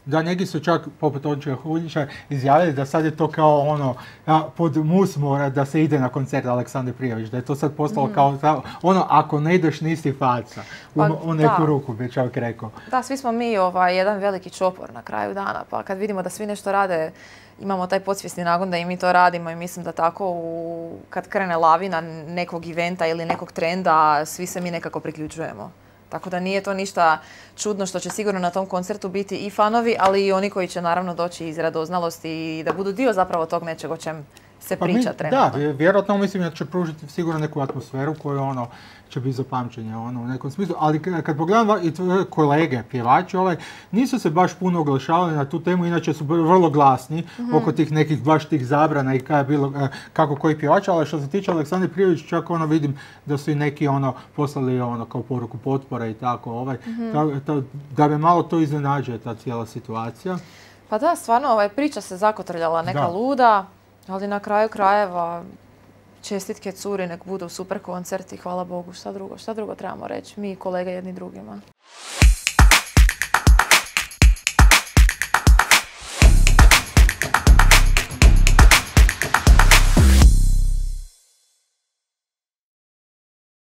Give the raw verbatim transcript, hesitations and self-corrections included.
Da, neki su čak, poput Ončija Huljića, izjavili da sad je to kao ono, pod mus mora da se ide na koncert Aleksandre Prijović, da je to sad postalo mm. kao ono, ako ne ideš nisi faca, u, pa, u neku da. ruku bi čovjek rekao. Da, svi smo mi ovaj, jedan veliki čopor na kraju dana, pa kad vidimo da svi nešto rade, imamo taj podsvjesni nagon da i mi to radimo i mislim da tako u, kad krene lavina nekog eventa ili nekog trenda, svi se mi nekako priključujemo. Tako da nije to ništa čudno što će sigurno na tom koncertu biti i fanovi, ali i oni koji će naravno doći iz radoznalosti i da budu dio zapravo tog nečeg o čem se pa priča mi, trenutno. Da, vjerojatno mislim da će pružiti sigurno neku atmosferu koju ono će biti za pamćenje ono, u nekom smislu. Ali kad pogledam i tvoje kolege, pjevači, ovaj, nisu se baš puno oglašavali na tu temu, inače su vrlo glasni mm-hmm. oko tih nekih baš tih zabrana i kada je bilo, kako koji pjevač, ali što se tiče Aleksandre Prijović, čak ono vidim da su i neki ono poslali ono kao poruku potpore i tako, ovaj, mm-hmm. ta, ta, da bi malo to iznenađuje ta cijela situacija. Pa da, stvarno, ovaj, priča se zakotrljala neka da. luda, ali na kraju krajeva čestitke curi, nek budu super koncerti, hvala Bogu, šta drugo, šta drugo trebamo reći, mi kolege jedni drugima.